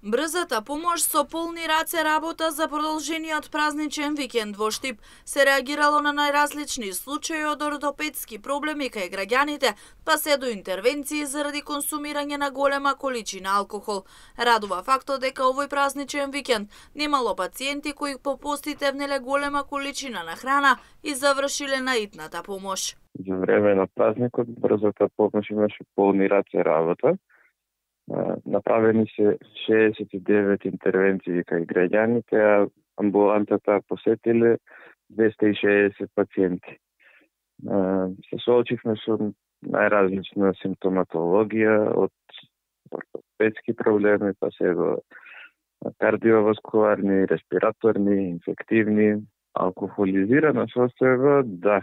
Брзата помош со полни раце работа за продолжениот празничен викенд во Штип се реагирало на најразлични случаи од ортопедски проблеми кај граѓаните, па се до интервенции заради консумирање на голема количина алкохол. Радува фактот дека овој празничен викенд немало пациенти кои по постите внеле голема количина на храна и завршиле на итната помош. За време на празникот брзата помош имаше полни раце работа. Направени се 69 интервенции кај граѓаните, а амбулантата посетиле 260 пациенти. Се соочивме со најразлична симптоматологија, од ортопедски проблеми, па се до кардиоваскуларни, респираторни, инфективни, алкохолизирана состојба, да,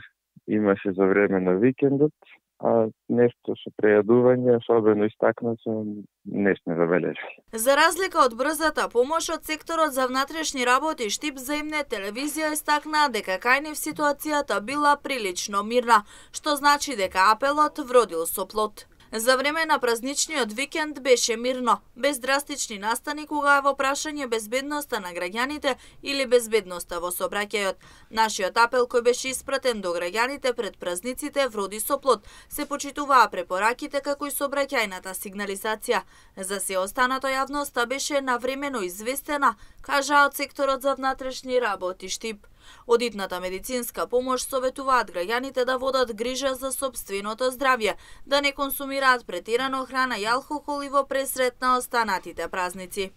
имаше за време на викендот, а нешто со прејадување, особено истакнато, не сме забележали. За разлика од брзата помош, од секторот за внатрешни работи Штип за М-нет телевизија истакнаа дека кај нив ситуацијата била прилично мирна, што значи дека апелот вродил со плод. За време на празничниот викенд беше мирно, без драстични настани кога е во прашање безбедноста на граѓаните или безбедноста во сообраќајот. Нашиот апел кој беше испратен до граѓаните пред празниците вроди со плод. Се почитуваа препораките како и сообраќајната сигнализација. За се останато јавноста беше навремено известена, кажа од секторот за внатрешни работи Штип. Од итната медицинска помош советуваат граѓаните да водат грижа за сопственото здравје, да не консумираат претерано храна и алкохол и во пресрет на останатите празници.